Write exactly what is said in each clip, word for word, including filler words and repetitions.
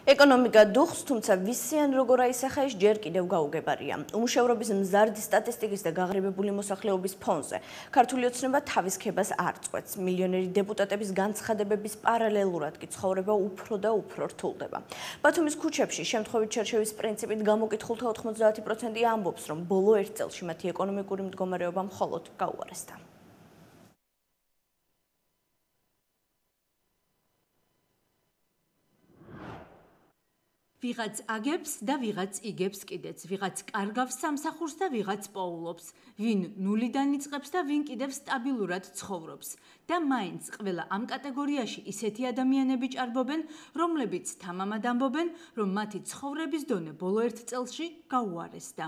ეკონომიკა დუხს, თუმცა ვისიან როგორ აისახა ის ჯერ კიდევ გაუგებარია. უმუშევრობის მზარდი სტატისტიკის და გაღრიბებული მოსახლეობის ფონზე ქართული ოცნება თავის ქებას არ წყვეტს. მილიონერი დეპუტატების განცხადებების პარალელურად კი ცხოვრება უფრო და უფრო რთულდება. ბათუმის ქუჩებში შემთხვევით შერჩევის პრინციპით გამოკითხულთა ოთხმოცდაათი პროცენტი ამბობს, რომ ბოლო ერთ წელში მათი ეკონომიკური მდგომარეობა მხოლოდ გაუარესდა. ვიღაც აგებს და ვიღაც იგებს კიდეც, ვიღაც კარგავს სამსახურს და ვიღაც პოულობს, ვინ ნულიდან იწყებს და ვინ კიდევ სტაბილურად ცხოვრობს. და მაინც ყველა ამ კატეგორიაში ისეთი ადამიანები ჭარბობენ, რომლებიც თამამად ამბობენ, რომ მათი ცხოვრების დონე ბოლო ერთ წელში გაუარესდა.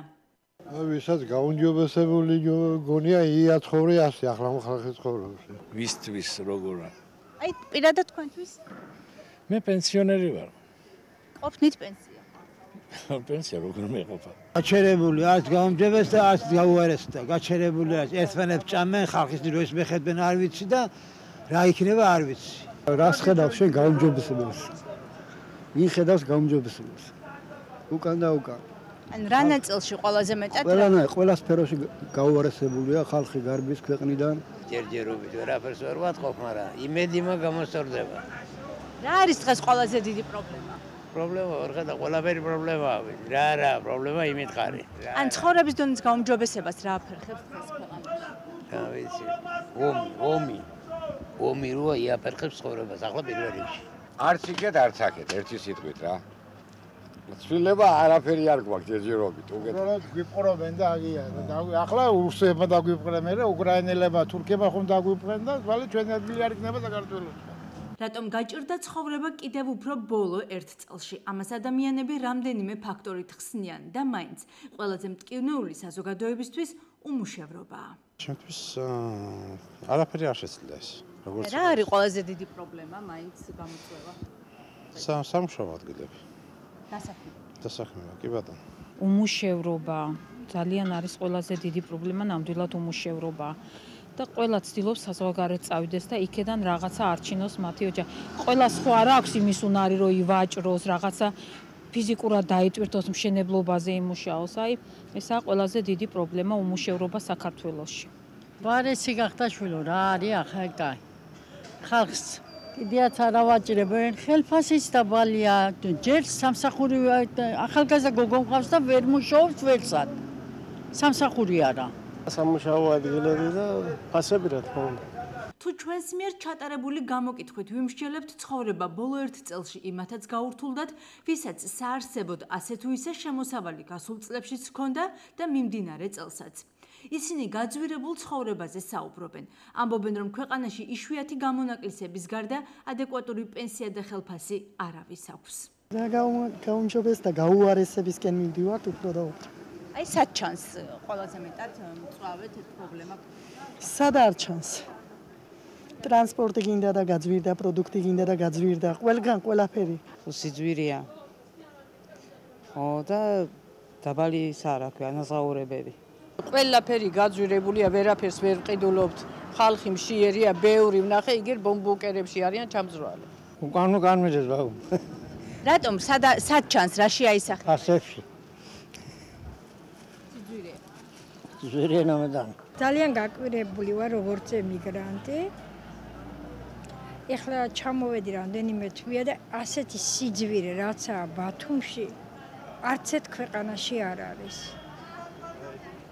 ვისაც გაუნჯობესებული გონია იაცხოვრე ასე ახლა ხალხი ცხოვრობს. ვისთვის როგორ? აი პირადად თქვენთვის? მე პენსიონერი ვარ. ყოფნით პენსია. პენსია როგორ მეყოფა? გაჩერებული არც გაუმჯობეს და არც გაუარესდა. გაჩერებული არც ერთმანეთს ჭამენ, ხალხის ნიროს მეხედვენ არ ვიცი და რა იქნება არ ვიცი. რას ხედავს შენ გაუმჯობესებელს? ვინ ხედავს გაუმჯობესებელს? უკან და უკან. ან რა ნაწილში ყველაზე მეტად? ყველანა ყველა სფეროში გაუარესებულია ხალხი გარბის ქვეყნიდან. ჯერჯერობით ვერაფერს ვერ ვატყობ, მაგრამ იმედი მაქვს გამოსწორდება. რა არის დღეს ყველაზე დიდი პრობლემა? პრობლემა ვერ ხედა, ყველაფერი პრობლემაა. რა რა, პრობლემა იმითხარი. ან ცხოვრების დონის გაუმჯობესებას რა აფერხებს დღეს ქვეყანაში? რა ვიცი. ომი, ომი. ომი როა იაფერხებს ცხოვრებას, ახლა პირველ რიგში. არც იქეთ, არც აქეთ, ერთი სიტყვით რა. ცვლილება არაფერი არ გვაქვს ჯერჯერობით, უკეთ. გვიპყრობენ და აგიან. ახლა რუსებმა დაგვიპყრენ, მე უკრაინელებმა, თურქებმა ხომ დაგვიპყრენ და თვალე ჩვენი ადგილი არ იქნება საქართველოს. რატომ გაჭირდა ცხოვრება კიდევ უფრო ბოლო ერთ წელში? ამას ადამიანები რამდენიმე ფაქტორით ხსნიან და მაინც ყველაზე მტკივნეული საზოგადოებისთვის უმუშევრობაა. ჩემთვის არაფერი არ შეცვლია ეს. როგორც რა არის ყველაზე დიდი პრობლემა მაინც გამოწვევა? სამუშაო ადგილები. დასაქმება. დასაქმება, კი ბატონო. უმუშევრობა ძალიან არის ყველაზე დიდი პრობლემა, ნამდვილად უმუშევრობა. და ყველა ცდილობს საზღვარგარეთ წავიდეს და იქედან რაღაცა არჩინოს მათი ოჯახი. ყველა სხვა არ აქვს იმის უნარი, რომ ივაჭროს, რაღაცა ფიზიკურად დაიტვირთოს, მშენებლობაზე იმუშაოს. აი, ესაა ყველაზე დიდი პრობლემა უმუშევრობა საქართველოში. ვარესი გახდა შვილო, რა არის ახლა კაი. ხალხს კიდეაც არ ავაჭრებენ, ხელფასიც დაბალია, ჯერ სამსახური ახალგაზრდა გოგო მყავს და ვერ მუშაობს ვერსად. სამსახური არა. სამუშაო ადგილები და ფასები რა თქმა უნდა. თუ ჩვენს მიერ ჩატარებული გამოკითხვით ვიმსჯელებთ ცხოვრება ბოლო ერთ წელში იმათაც გაურთულდათ, ვისაც საარსებოდ ასე თუ ისე შემოსავალი გასულ წლებშიც ჰქონდა და მიმდინარე წელსაც. ისინი გაძვირებულ ცხოვრებაზე საუბრობენ. ამბობენ, რომ ქვეყანაში იშვიათი გამონაკლისების გარდა ადეკვატური პენსია და ხელფასი არავის აქვს. და გაუმჯობეს და გაუარესებისკენ მივდივართ უფრო და უფრო. აი სად ჩანს ყველაზე მეტად მწვავედ პრობლემა? სად არ ჩანს? ტრანსპორტი გინდა და გაძვირდა, პროდუქტი გინდა და გაძვირდა, ყველგან ყველაფერი. სიძვირია. ო და დაბალი რა ქვია, ანაზღაურებები. ყველაფერი გაძვირებულია, ვერაფერს ვერ ყიდულობთ. ხალხი მშიერია, ბევრი ვნახე, იგერ ბომბუკერებში არიან ჩამძრალი. უკან უკან მიდის ბაუ. რატომ სად სად ჩანს, რაში აისახა? ასებში. ზურენომდან. ძალიან გაკვირებული ვარ როგორც ემიგრანტი. ეხლა ჩამოვედი რამდენიმე თვეა და ასეთი სიძვირე რაცაა ბათუმში, არც ერთ ქვეყანაში არ არის.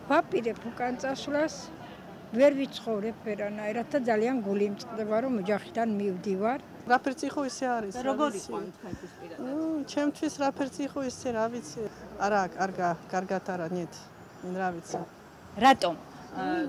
ვაპირებ უკან წასვლას, ვერ ვიცხოვრებ ვერანაირად და ძალიან გული მწყდება რომ ოჯახიდან მივდივარ. რაფერცი ხო ისე არის. როგორი ყვანთ თქვენთვის პირადად? ჩემთვის რაფერცი ხო ისე რა ვიცი. არა, კარგა, კარგად არა, ნიეთ. რა ვიცი. რატომ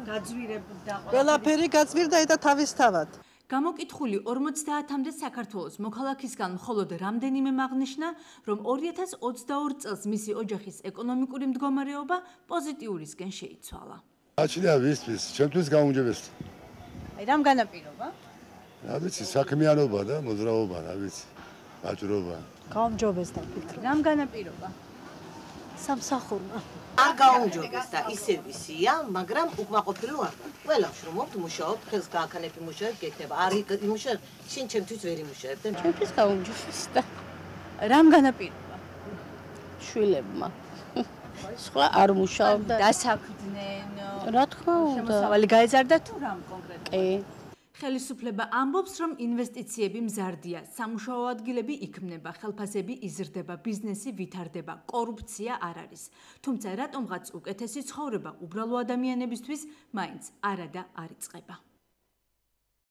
გაძვირებდა? ყველაფერი გაძვირდა და თავისთავად. გამოკითხული ორმოცდაათამდე საქართველოს მოქალაქისგან მხოლოდ რამდენიმე აღნიშნა, რომ ორი ათას ოცდაორ წელს მისი ოჯახის ეკონომიკური მდგომარეობა პოზიტიურისკენ შეიცვალა. აჩნია ვისთვის, ჩემთვის გაუმჯობესდა. აი რამ განაპირობა? რა ვიცი, საქმიანობა და მოძრაობა, რა ვიცი, ვაჭრობა. გაუმჯობესდა ფიქრობ. რამ განაპირობა? სამსახურმა. არ გაუმჯობესდა, ისე ვისია, მაგრამ უკმაყოფილო არ ვარ. ყველა ვშრომობთ, მუშაობთ, ხელს გააქანებ იმუშავებ, გექნება. არ იმუშავებ, შენ ჩემთვის ვერ იმუშავებ და ჩემთვის გაუმჯობესდა. რამ განაპირობა? შვილებმა. სხვა არ მუშაობდა. დასაქმდნენ. რა თქმა უნდა. შემოსავალი გაეზარდა თუ რამ კონკრეტულად? კი. ხელისუფლება ამბობს, რომ ინვესტიციები მზარდია, სამუშაო ადგილები იქმნება, ხელფასები იზრდება, ბიზნესი ვითარდება, კორუფცია არ არის. თუმცა რატომღაც უკეთესი ცხოვრება უბრალო ადამიანებისთვის მაინც არადა არ იწყება.